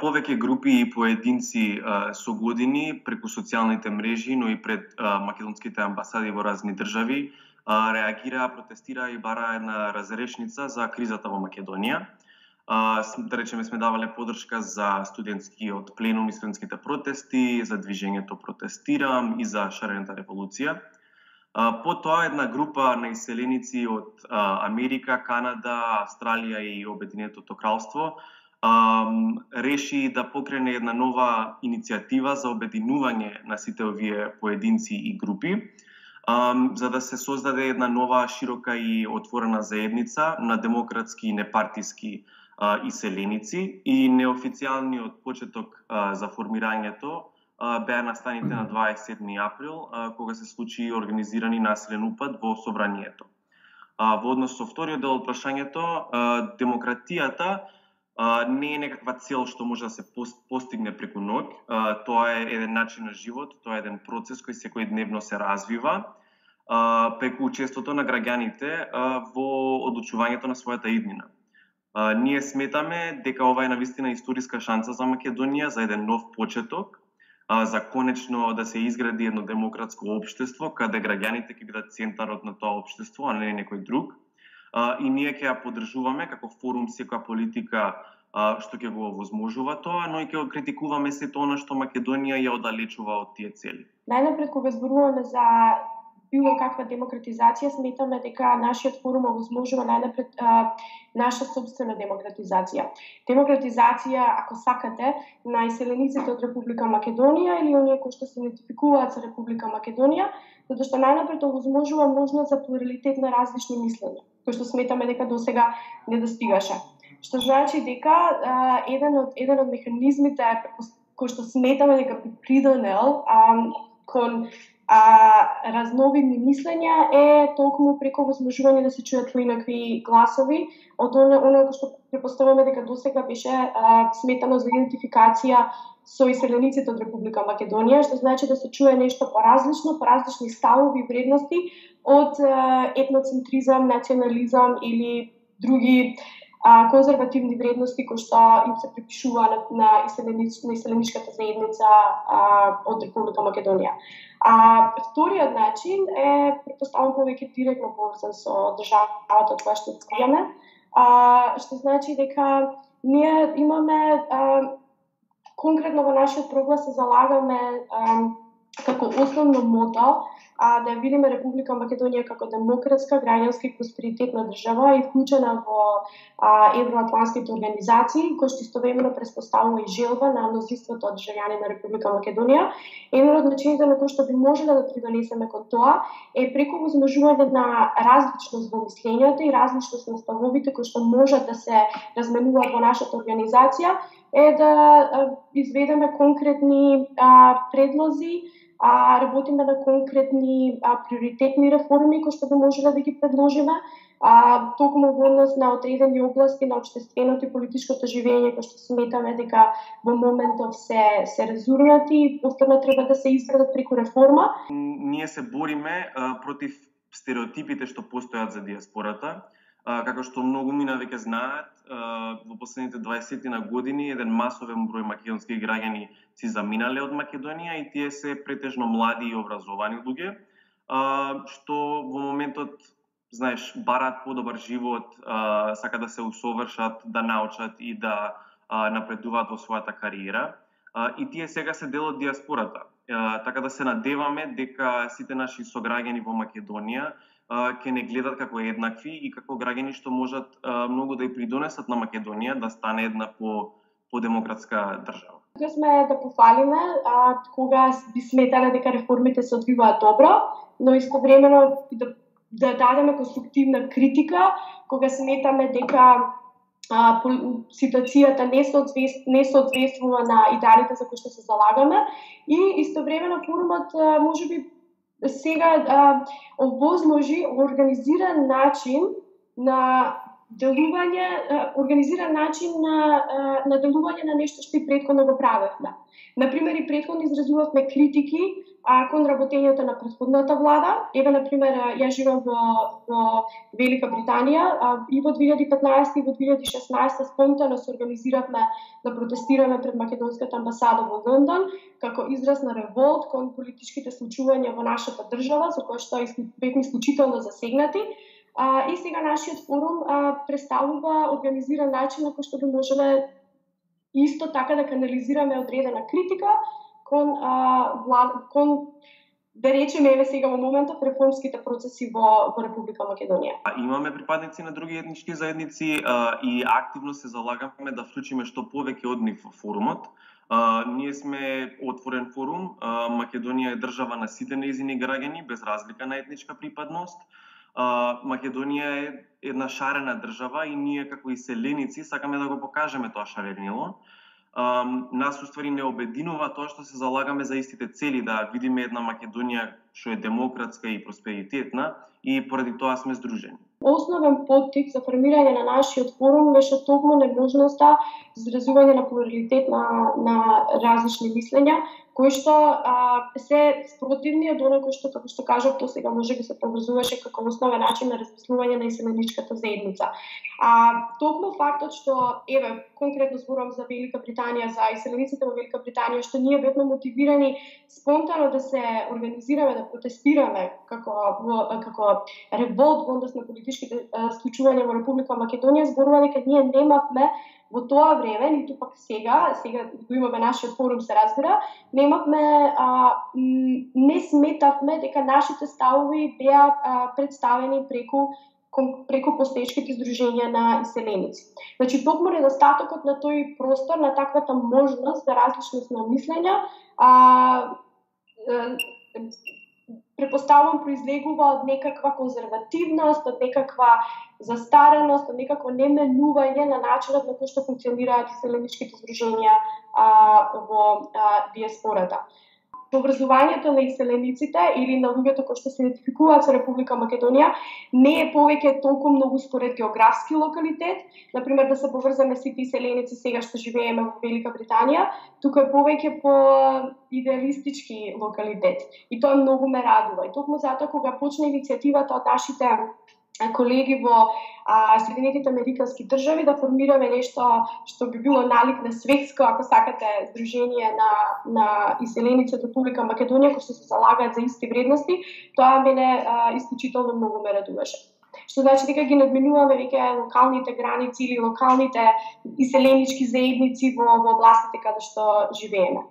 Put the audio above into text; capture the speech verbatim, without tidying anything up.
Повеќе групи и поединци со години преку социјалните мрежи, но и пред македонските амбасади во разни држави реагираа, протестираа и бараа една разрешница за кризата во Македонија. Да речеме, сме давале подршка за студентскиот пленум и студентските протести, за движењето Протестирам и за шарената револуција. Потоа една група на иселеници од Америка, Канада, Австралија и Обединетото кралство реши да покрене една нова иницијатива за обединување на сите овие поединци и групи, за да се создаде една нова, широка и отворена заедница на демократски и непартиски иселеници, и неофицијалниот почеток за формирањето беа настаните на дваесет и седми април, кога се случи организирани насилен упад во собранието. Во однос со вториот дел од прашањето, демократијата не е некаква цел што може да се постигне преку ноќ. Тоа е еден начин на живот, тоа е еден процес кој секојдневно се развива преку учеството на граѓаните во одлучувањето на својата иднина. Ние сметаме дека ова е навистина историска шанса за Македонија, за еден нов почеток, за конечно да се изгради едно демократско општество, каде граѓаните ќе бидат центарот на тоа општество, а не некој друг. И ние ќе ја поддржуваме како форум секоја политика што ќе го овозможува тоа, но и ќе го критикуваме сето она што Македонија ја оддалечува од тие цели. Најнапред, кога зборуваме за било каква демократизација, сметаме дека нашиот форум овозможува најнапред наша собствена демократизација. Демократизација, ако сакате, на иселениците од Република Македонија или оние кои што се идентификуваат со Република Македонија, затоа што најнапред овозможува можност за плуралитет на различни мислења, кои што сметаме дека досега недостигаше. Што значи дека а, еден од еден од механизмите кој што сметаме дека би придонел а, кон а, разновидни мислења е толкому преку возможување да се чујат поинакви гласови од оно оно што препоставуваме дека досега беше а, сметано за идентификација со иселениците од Република Македонија, што значи да се чуе нешто поразлично, поразлични ставови и вредности од а, етноцентризам, национализам или други а, конзервативни вредности кои што им се припишува на, на, иселенич, на иселеничката заедница а, од Република Македонија. А вториот начин е, претпоставам, повеќе директно поврзан со државата која што скријаме, а, што значи дека ние имаме а, конкретно во нашиот проглас се залагаме а, како основно мото а, да ја видиме Република Македонија како демократска, граѓанска и просперитетна држава и вклучена во а, евроатлантските организации, кои што истовремено преспоставува и желба на мнозинството од државјани на Република Македонија. Еден од начините на кои што би можеле да придонесеме кон тоа е преку возможување на различност во мислењата и различност на ставовите кои што можат да се разменуваат во нашата организација, е да а, изведеме конкретни а, предлози, а, работиме на конкретни а, приоритетни реформи кои што би можеле да ги предложиме, а, токму во однос на одредени области на општественото и политичкото живење кои што сметаме дека во моментов се се резурнати и повторно треба да се изградат преку реформа. Ние се бориме а, против стереотипите што постојат за диаспората. Uh, како што многу мина веќе знаат, uh, во последните дваесет на години еден масовен број македонски граѓани си заминале од Македонија и тие се претежно млади и образовани луѓе, uh, што во моментот, знаеш, бараат подобар живот, uh, сака да се усовршат, да научат и да uh, напредуваат во својата кариера. Uh, и тие сега се дел од диаспората. Uh, така да се надеваме дека сите наши сограѓани во Македонија ќе не гледат како еднакви и како граѓани што можат а, многу да и придонесат на Македонија да стане една по подемократска држава. Тука сме да пофалиме а, кога би сметале дека реформите се одвиваат добро, но истовремено да, да дадеме конструктивна критика кога сметаме дека а, по, ситуацијата не соодветствува, не соодветствува на идеалите за кои што се залагаме и истовремено форумот можеби сега а, овозможи организиран начин на делување, организиран начин на, на делување на нешто што и претходно го правевме. Например, и претходно изразувавме критики а, кон работењето на претходната влада. Еве, например, ја живеам во, во Велика Британија, а, и во две илјади и петнаесета и во две илјади и шеснаесета спонтано се организиравме да протестираме пред македонската амбасада во Лондон, како израз на револт кон политичките случувања во нашата држава, за кои што бевме исклучително засегнати. А, и сега нашиот форум а, представува организиран начин на кој што би можеле исто така да канализираме одредена критика кон, а, влад, кон да речеме, еве сега во моментот, реформските процеси во, во Република Македонија. Имаме припадници на други етнички заедници а, и активно се залагаме да вклучиме што повеќе од нив во форумот. А, ние сме отворен форум, а, Македонија е држава на сите нејзини граѓани без разлика на етничка припадност. Uh, Македонија е една шарена држава и ние како иселеници сакаме да го покажеме тоа шаренило. Um, нас уствари не обединува тоа што се залагаме за истите цели, да видиме една Македонија што е демократска и просперитетна, и поради тоа сме здружени. Основен поттик за формирање на нашиот форум беше токму неможноста за изразување на плуралитет на, на различни мислења, кои што а, се спротивни од оној кој што, како што кажав, тоа сега може да се поврзуваше како основен начин на размислување на иселеничката заедница. А токму фактот што, еве, конкретно зборувам за Велика Британија, за иселениците во Велика Британија, што ние бевме мотивирани спонтано да се организираме, да протестираме како, како револт во однос на политичките случувања во Република Македонија, зборува дека ние немавме во тоа време, ниту пак сега, сега го имаме нашиот форум, се разбира, немавме, а, не сметавме дека нашите ставови беа а, представени преку преку постоечките здруженја на иселеници. Значи, токму недостатокот на тој простор, на таквата можност за различност на мислења, а, препоставувам произлегува од некаква конзервативност, од некаква застареност, од некакво неменување на начинот на кој што функционираат иселеничките здруженја а, во а, диаспората. Образувањето на иселениците или на луѓето кои што се идентификуваат со Република Македонија не е повеќе толку многу според географски локалитет, например да се поврзаме сите иселеници сега што живееме во Велика Британија, туку е повеќе по идеалистички локалитет. И тоа многу ме радува. И токму затоа кога почна иницијативата од нашите колеги во а, Соединетите Американски држави да формираме нешто што би било налик на светско, ако сакате, здружение на, на иселеници од Република Македонија кои што се залагаат за исти вредности, тоа мене а, исклучително многу ме радуваше. Што значи дека ги надминуваме веќе локалните граници или локалните иселенички заедници во, во областите каде што живееме.